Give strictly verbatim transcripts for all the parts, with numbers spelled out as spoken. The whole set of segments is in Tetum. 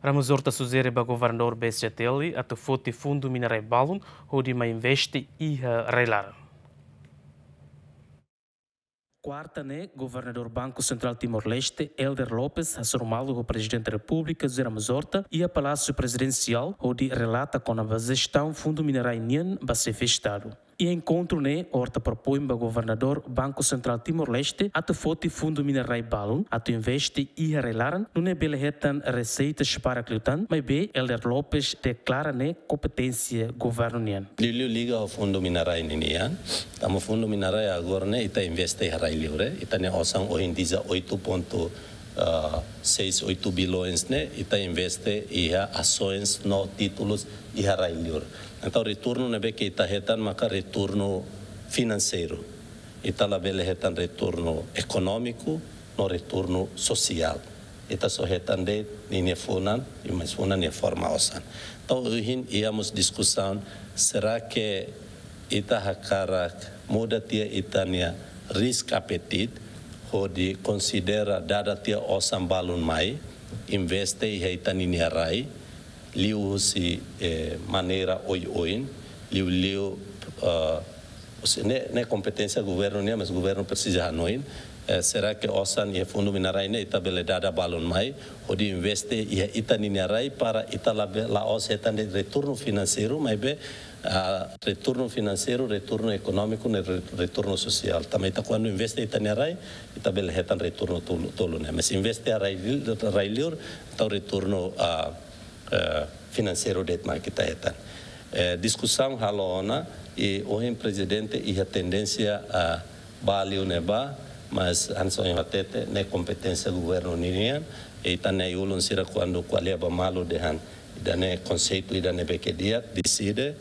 Ramos Horta sujere ba governadór B C T L atu foti fundu mina-rai balun hodi mai investe iha rai-laran. Kuarta ne'e, Governadór Banku Sentrál Timor-Leste, Helder Lopes, hasoru malu ho Prezidente Repúblika, José Ramos Horta, iha Palásiu Prezidensiál, hodi relata kona-ba jestaun fundu mina-rai nian ba xefe Estadu. Iha enkontru ne'e, Horta propoin ba Governadór Banku Sentrál Timor-Leste atu foti fundu mina-rai balun atu investe iha rai-laran, nune'e bele hetan reseitas barak liután, maibé Helder Lopes deklara ne'e kompeténsia governu nian. Liuliu liga ho fundu mina-rai ninian, tanba fundu mina-rai agora ne'e ita investe iha rai-liur, ita-nia osan ohin dezoito ponto seis oito bilhões ne'e, ita investe iha ações no títulos iha rai-liur. Entaun, retornu ne'ebé ke ita hetan maka retornu finanseiru. Ita labele hetan retornu ekonómiku no retornu sosiál. Ita só hetan de'it ninia funan, i mais funan nia forma osan. Entaun, ohin iha mós diskusaun, será ke ita hakarak muda tiha ita-nia risk appetite, hodi konsidera dada tiha osan balun mai, investe iha ita ninia rai, liuhusi, eh, maneira oioin, liuliu, eh, husi ne'e, ne'e kompeténsia governu nian, mas governu presiza hanoin, eh, será ke osan iha fundu mina-rai ne'e ita bele dada balun mai, hodi investe iha ita ninia rai para ita labe-, la'ós hetan de'it retornu finanseiru, maibé, ah, retornu finanseiru, retornu ekonómiku, no re-, retornu sosiál. Tanba ita kuandu investe ita-nia rai, ita bele hetan retornu tolu, tolu ne'e. Mas investe iha rai, rai-liur, entaun retornu, ah, eh, finanseiru de'it mak ita hetan. Eh, diskusaun halo ona, i ohin Prezidente iha tendénsia, ah, ba liu ne'ebá, mas hanesan ohin hatete, ne'e kompeténsia governu ninian, i ita-nia ulun sira kuandu ko'alia ba malu dehan ida-ne'e konseitu ida ne'ebé ke di'ak, deside,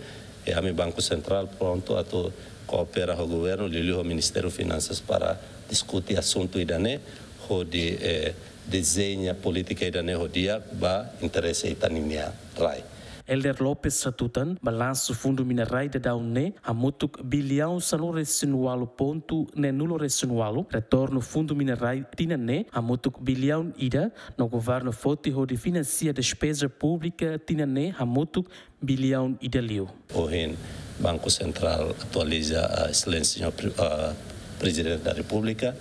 i ami Banku Sentrál prontu atu koopera ho governu, liuliu ho Ministériu Finansas para diskute asuntu ida-ne'e, hodi, eh, dezeña polítika ida-ne'e ho di'ak ba interese ita ninia rai. Helder Lopes hatutan, balansu fundu mina-rai daudaun ne'e hamutuk biliaun sanulu-resin-ualu pontu neenulu-resin-ualu, retornu fundu mina-rai tinan ne'e hamutuk biliaun ida, no governu foti hodi finansia despeza públika tinan ne'e hamutuk biliaun ida liu. Ohin Banku Sentrál atualiza, ah, Exelénsia Señór Pre-, ah, Prezidente da Repúblika,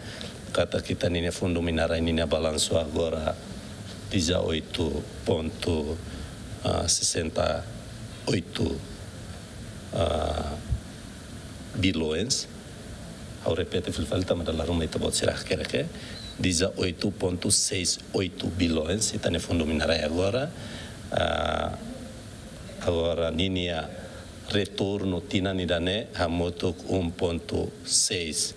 katak ita ninia fundu mina-rai ninia balansu agora dezoito ponto sessenta e oito, ah, bilhões. Ha'u repete fila fali tanba dala ruma ita-boot sira hakerek, dezoito ponto seis oito bilhões ita-nia fundu mina-rai agora. Ah, agora ninia retornu tinan ida-ne'e hamutuk um ponto seis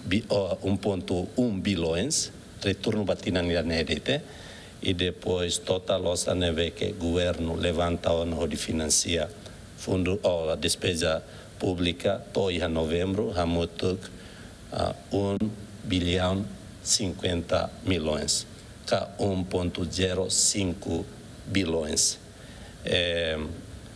bi-, oh, um ponto um bilhões, retornu ba tinan ida-ne'e de'it. I depois totál osan ne'ebé ke governu levanta ona hodi finansia fundu, oh, despeza públika to'o iha novembru hamutuk, ah, um bilhão cinquenta milhões, ka um ponto zero cinco bilhões. Eh,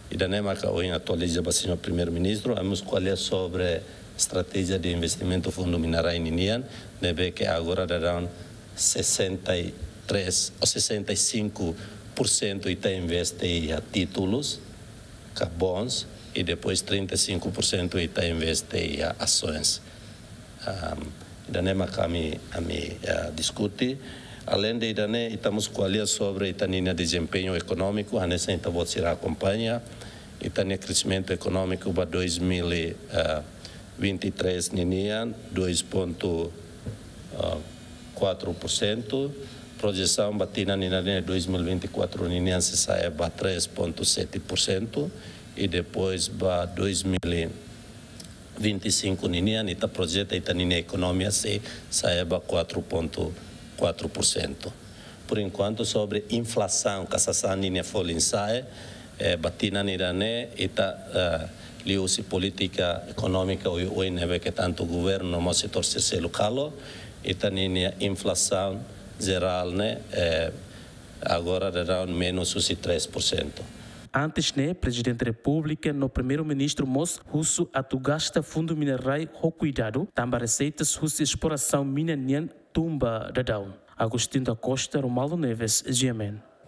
ida-ne'e maka ohin atualiza ba Señór Primeiru-Ministru, ami mós ko'alia sobre estratéjia de investimentu fundu mina-rai ninian, ne'ebé ke agora daudaun sessenta e três ou sessenta e cinco por cento ita investe iha títulus, ka bonds, i depois trinta e cinco por cento ita investe iha ações. Ahm, ida-ne'e maka ami, ami, ah, diskute. Além de ida-ne'e, ita mós ko'alia sobre ita ninia dezempeñu ekonómiku, hanesan ita-boot sira akompaña. Ita-nia kreximentu ekonómiku ba dois mil e vinte e três ninian, dois ponto quatro por cento. Projesaun ba tinan ida-ne'e dois mil e vinte e quatro ninian sei sa'e ba três ponto sete por cento. I depois ba dois mil e vinte e cinco ninian, ita projeta ita ninia ekonomia sei sa'e ba quatro ponto quatro por cento. Por enquanto, sobre inflasaun, ka sasán ninia folin sa'e, eh, ba tinan ida-ne'e, ita, eh, liuhusi polítika ekonómika oioin ne'ebé ke tantu governu no mós setór sira seluk halo, ita ninia inflasaun jerál ne'e, eh, agora daudaun menus husi três por cento. Antes ne'e, Prezidente Repúblika no Primeiru-Ministru mós husu atu gasta fundu mina-rai ho kuidadu, tanba reseitas husi esplorasaun mina nian tun ba daudaun. Agostinho da Costa, Romualdo Neves, G M N.